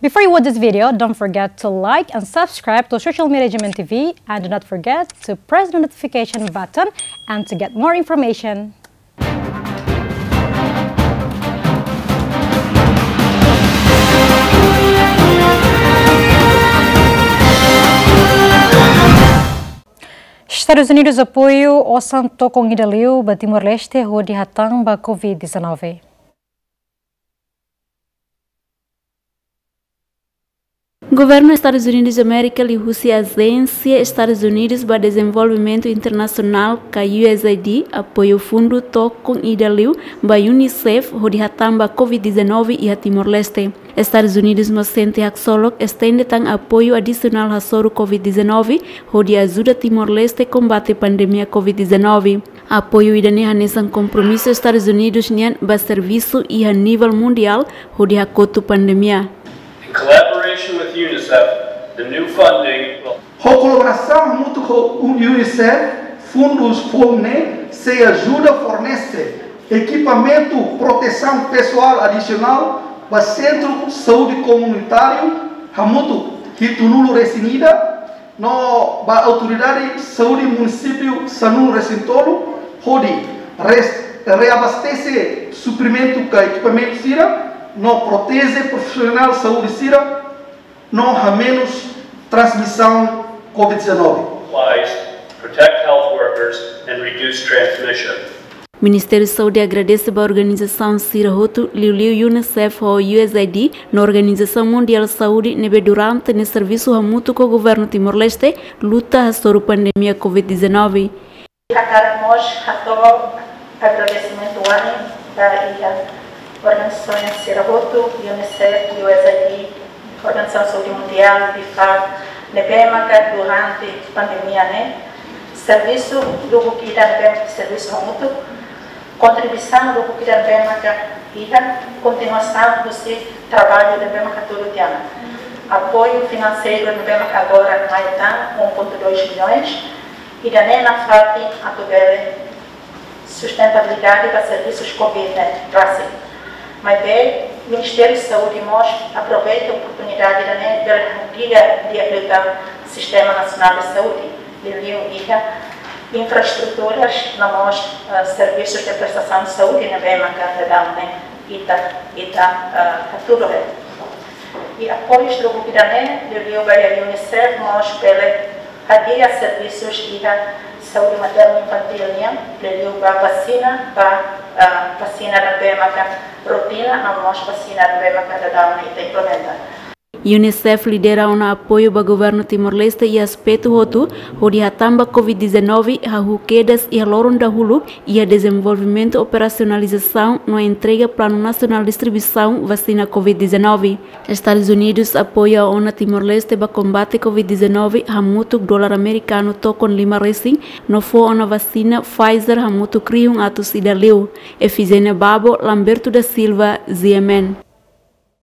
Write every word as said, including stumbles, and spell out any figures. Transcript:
Before you watch this video, don't forget to like and subscribe to Social Media G M N T V, and do not forget to press the notification button and to get more information. Estadus Unidus apoiu osan tokon ida liu ba Timor-Leste hodi hatán ba Covid dezanove. Governu Estadus Unidus Amérika liuhusi Ajénsia Estadus Unidus ba Dezenvolvimentu Internasionál ka U S A I D apoiu fundu tokon ida liu ba UNICEF hodi hatán ba Covid dezanove iha Timor-Leste. Estadus Unidus mós sente haksolok estende tan apoiu adisionál hasoru Covid dezanove hodi ajuda Timor-Leste kombate pandemia Covid dezanove. Apoiu ida-ne'e hanesan kompromisu Estadus Unidus nian ba servisu iha nivel mundiál hodi hakotu pandemia. In collaboration with UNICEF, the new funding will Ho kolaborasaun hamutuk ho UNICEF, fundus foun ne'e sei ajuda fornese ekipamentu protesaun pesoál adisionál ba Sentru Saúde Komunitáriu hamutuk hitunulu resin ida, no ba Autoridade Saúde Munisípiu sanulu resin tolu, hodi res-, reabastese suprimentu ka ekipamentu sira, no proteje profisionál saúde sira, no hamenus transmisaun Covid dezanove. Supplies, protect health workers, and reduce transmission. Ministériu Saúde agradese ba organizasaun sira hotu, liuliu UNICEF ho U S A I D, no Organizasaun Mundiál Saúde, ne'ebé durante ne'e servisu hamutuk ho Governu Timor-Leste, luta hasoru pandemia Covid dezanove. Hakarak mós hato'o agradesimentu wa'in ba iha organizasaun sira hotu, UNICEF, U S A I D, Organizasaun Saúde Mundiál, PIFAD, ne'ebé maka durante pandemia ne'e, servisu lubuk ida ne'ebé servisu hamutuk, kontribuisaun lubuk ida ne'ebé maka iha, kontinuasaun husi traballu ne'ebé maka hatudu tiha ona. Apoiu finanseiru ne'ebé maka agora mai tan um ponto dois milhões, ida-ne'e nafatin atu bele sustentabilidade ba servisus Covid ne'e rasik. Maibé, Ministériu Saúde mós aproveita oportunidade ida-ne'e bele hadi'a di'ak liután sistema nasionál de saúde, liuliu iha infraestruturas no mós, eh, servisus de prestasaun saúde ne'ebé maka daudaun ne'e ita, ita, eh, hatudu hela. I apoius lubuk ida-ne'e, liuliu ba iha UNICEF mós bele hadi'a servisus iha saúde maternu infantíl nian, liuliu ba vasina, ba, ah, vasina ne'ebé maka rotina, no mós vasina ne'ebé maka daudaun ita implementa. UNICEF lidera ona apoiu ba Governu Timor-Leste iha aspetu hotu, hodi hatán ba Covid dezanove, hahú kedas iha loron dahuluk, iha dezenvolvimentu operasionalizasaun no entrega Planu Nasionál Distribuisaun vasina Covid dezanove. Estadus Unidus apoia ona Timor-Leste ba kombate Covid dezanove hamutuk dolar amerikanu tokon lima resin no fó ona vasina Pfizer hamutuk rihun atus ida liu. Efigénia Babo, Lamberto da Silva, G M N.